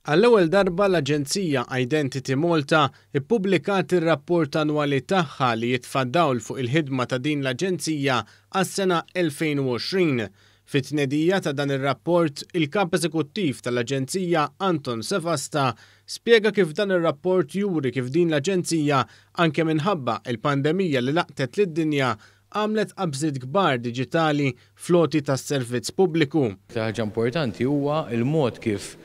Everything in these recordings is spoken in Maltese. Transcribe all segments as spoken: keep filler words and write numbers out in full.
Għall-ewwel darba l-Aġenzija Identity Malta ippubblikat ir-rapport annwali tagħha li jitfa' dawl fuq il-ħidma ta' din l-aġenzija għas-sena elfejn u għoxrin. Fit-tnedija ta' dan ir-rapport, il-kap eżekuttiv tal-Aġenzija Anton Sevasta spjega kif dan ir-rapport juri kif din l-aġenzija, anke minħabba il-pandemija li laqtet lid-dinja, għamlet qabżiet kbar diġitali fl-għoti tas-servizz pubbliku. Ħaġa importanti huwa il-mod kif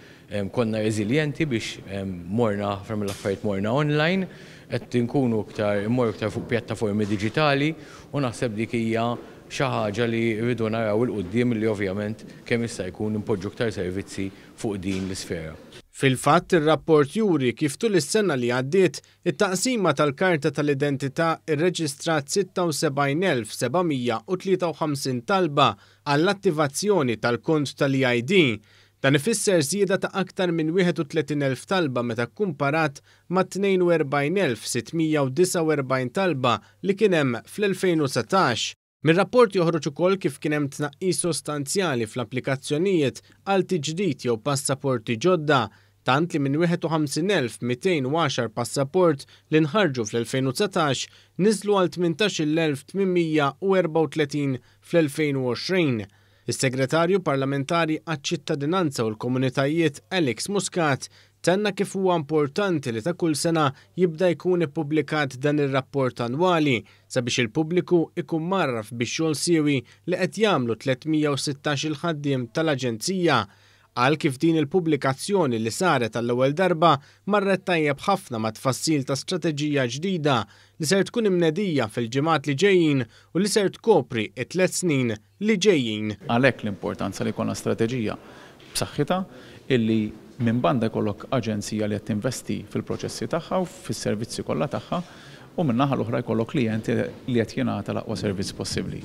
konna reżiljenti biex morna ħafna mill-affarijiet, morna online, qed nkunu iktar immorru iktar fuq pjattaformi diġitali, u naħseb dik hija xi ħaġa li rridu naraw 'il quddiem, li ovvjament kemm jista' jkun impoġġu iktar servizzi fuq din l-isfera. Fil-fatt, ir-rapport juri kif tul is-sena li għaddiet it-taqsima tal-karta tal-identità irreġistrat sitta u sebgħin elf seba' mija u tlieta u ħamsin talba għall-attivazzjoni tal-kont tal-E I D. Dan ifisser żieda ta' aktar minn wieħed u tletin elf talba meta kumparat ma' tnejn u erbgħin elf sitt mija u disgħa u erbgħin talba li kien hemm fl-elfejn u dsatax. Mir-rapport joħroġ ukoll kif kien hemm tnaqqis sostanzjali fl-applikazzjonijiet għal tiġdid jew passaporti ġodda, tant li minn wieħed u ħamsin elf mitejn u għaxar passaport li nħarġu fl-elfejn u dsatax niżlu għal tmintax-il elf tmien mija u erbgħa u tletin fl-elfejn u għoxrin. Is-Segretarju Parlamentari għaċ-Ċittadinanza u l-Komunitajiet Alex Muscat tenna kif huwa importanti li ta' kull sena jibda jkun ippubblikat dan ir-rapport annwali sabiex il-pubbliku ikun mgħarraf bix-xogħol siewi li qed jagħmlu tliet mija u sittax il-ħaddiem tal-Aġenzija. Qal kif din il-pubblikazzjoni li saret għall-ewwel darba marret tajjeb ħafna ma' tfassil ta' strateġija ġdida li ser tkun imnedija fil-ġimgħat li ġejjin u li ser tkopri it-tliet snin li ġejjin. Għalhekk l-importanza li jkollna strateġija b'saħħitha, illi minn banda jkollok aġenzija li qed tinvesti fil-proċessi tagħha u fis-servizzi kollha tagħha, u min-naħa l-oħra jkollok klijenti li qed jingħata l-aqwa servizz possibbli.